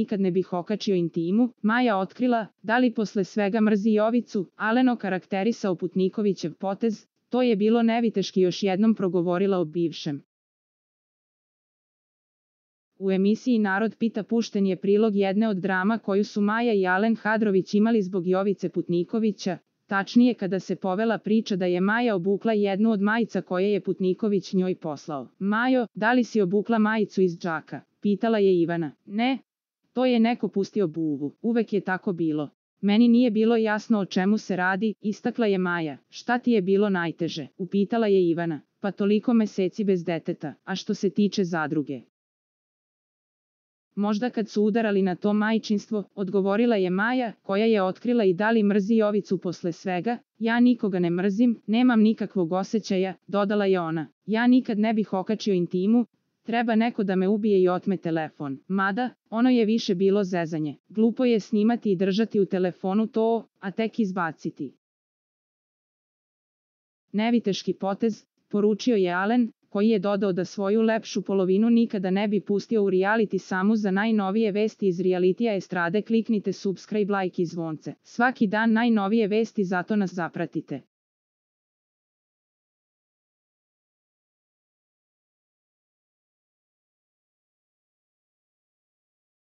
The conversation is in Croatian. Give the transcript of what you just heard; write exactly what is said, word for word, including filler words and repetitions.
nikad ne bih okačio intimu, Maja otkrila, da li posle svega mrzi Jovicu, Alen okarakterisao Putnikovićev potez, to je bilo neviteški još jednom progovorila o bivšem. U emisiji Narod pita pušten je prilog jedne od drama koju su Maja i Alen Hadrović imali zbog Jovice Putnikovića, tačnije kada se povela priča da je Maja obukla jednu od majica koje je Putniković njoj poslao. Majo, da li si obukla majicu iz džaka? Pitala je Ivana. Ne, to je neko pustio buvu, uvek je tako bilo. Meni nije bilo jasno o čemu se radi, istakla je Maja. Šta ti je bilo najteže? Upitala je Ivana. Pa toliko meseci bez deteta, a što se tiče zadruge. Možda kad su udarali na to majčinstvo, odgovorila je Maja, koja je otkrila i da li mrzi Jovicu posle svega. Ja nikoga ne mrzim, nemam nikakvog osjećaja, dodala je ona. Ja nikad ne bih okačio intimu, treba neko da me ubije i otme telefon. Mada, ono je više bilo zezanje. Glupo je snimati i držati u telefonu to, a tek izbaciti. Neviteški potez, poručio je Alen, koji je dodao da svoju lepšu polovinu nikada ne bi pustio u reality samu. Za najnovije vesti iz realitija estrade kliknite subscribe, like i zvonce. Svaki dan najnovije vesti, zato nas zapratite.